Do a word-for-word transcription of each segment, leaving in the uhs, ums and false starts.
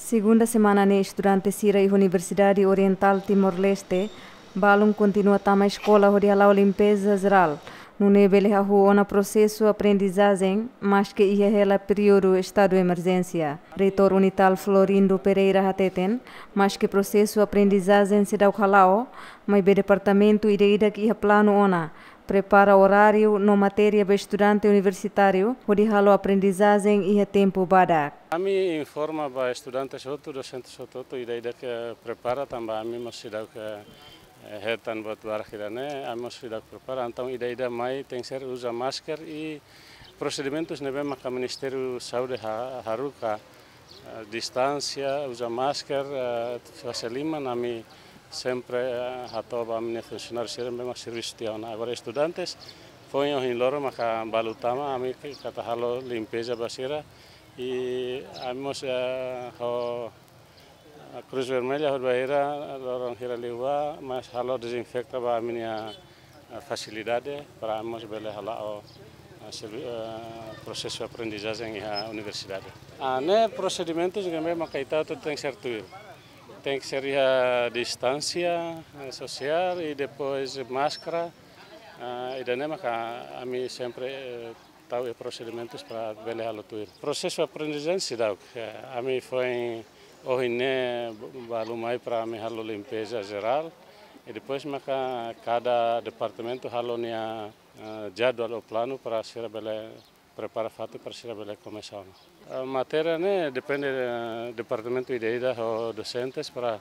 Segunda semana ne'e estudante sira iha Universidade Oriental Timor-Leste balun kontinua tama eskola hodi hala'o limpeza jerál, nune'e bele hahú ona prosesu aprendizajen, maske iha hela períodu estadu emerjénsia. Reitór Unital Florindo Pereira hateten, maske prosesu aprendizajen seidauk hala'o, maibé departamentu ida-idak iha planu ona prepara oráriu no matéria ba estudante universitáriu hodi halo aprendizajen iha tempu badak. Ami informa ba estudantes hotu, dosentes hotu-hotu, ida-idak prepara tanba ami mós seidauk, eh, hetan buat barak ida-ne'e, ami mós seidauk prepara. Entaun ida-idak mai tenkesér uza masker i prosedimentus ne'ebé maka Ministériu Saúde ha-, haruka, eh, distánsia, uza masker, eh, fase liman, ami sempre, eh, hato'o ba ami-nia funsionáriu sira ne'ebé mak servisu tiha ona. Agora estudantes, foin ohin loron maka balu tama, ami ke-, keta halo limpeza ba sira, i ami mós, eh, ho, eh, Cruz Vermelha hodi bainhira loron hira liubá, mós halo dezinfeta ba ami-nia, eh, fasilidade para ami mós bele hala'o, eh, servi-, eh, prosesu aprendizajen iha universidade. Ah, ne'e prosedimentus ne'ebé maka ita hotu tenkesér tuir. Tenkesér iha distánsia, eh, sosiál i depois máskara, eh, ida-ne'e maka ami sempre, eh, tau iha prosedimentus para bele halo tuir. Prosesu aprendizajen seidauk, eh, ami foin ohin ne'e ba-, balu mai para ami halo limpeza jerál, i depois maka kada departamentu halo nia, eh, jadwal ou planu para sira bele prepara fatin para sira bele komesa ona. Eh, matéria ne'e depende, eh, departamentu ida-idak ho dosentes para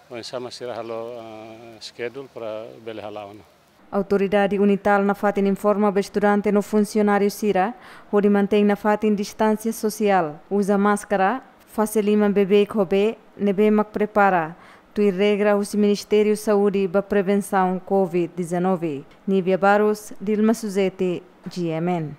oinsá mak sira halo, eh, schedule para bele hala'o ona. Autoridade Unital nafatin informa ba estudante no funsionáriu sira hodi mantein nafatin distánsia sosiál, uza máskara, fase liman beibeik ho bee ne'ebé mak prepara, tuir regra husi Ministériu Saúde ba prevensaun covid dezanove. Nívia Barros, Dilma Suzete, G M N.